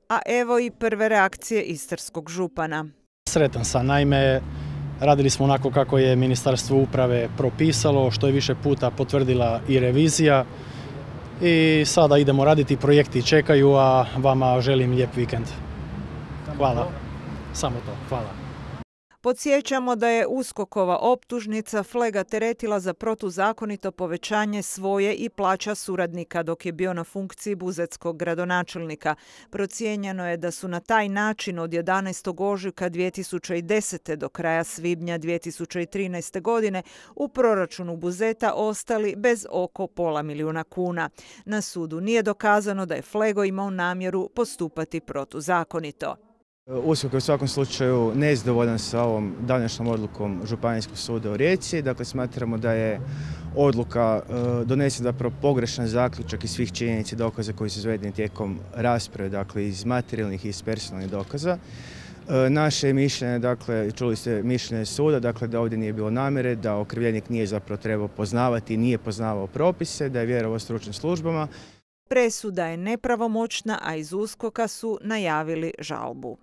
A evo i prve reakcije istarskog župana. Sretan sam, naime radili smo onako kako je Ministarstvo uprave propisalo, što je više puta potvrdila i revizija. I sada idemo raditi, projekti čekaju, a vama želim lijep vikend. Hvala. Samo to, hvala. Podsjećamo da je USKOK-ova optužnica Flega teretila za protuzakonito povećanje svoje i plaća suradnika dok je bio na funkciji buzetskog gradonačelnika. Procijenjeno je da su na taj način od 11. ožujka 2010. do kraja svibnja 2013. godine u proračunu Buzeta ostali bez oko pola milijuna kuna. Na sudu nije dokazano da je Flego imao namjeru postupati protuzakonito. USKOK je u svakom slučaju nezadovoljan sa ovom današnjom odlukom Županijskog suda u Rijeci. Dakle, smatramo da je odluka donesena zapravo pogrešan zaključak iz svih činjenica i dokaza koji su izvedeni tijekom rasprave, dakle iz materijalnih i iz personalnih dokaza. Naše mišljenje, dakle, čuli ste mišljenje suda, dakle da ovdje nije bilo namjere, da okrivljenik nije zapravo trebao poznavati, nije poznavao propise, da je vjerovao stručnim službama. Presuda je nepravomoćna, a iz USKOK-a su najavili žalbu.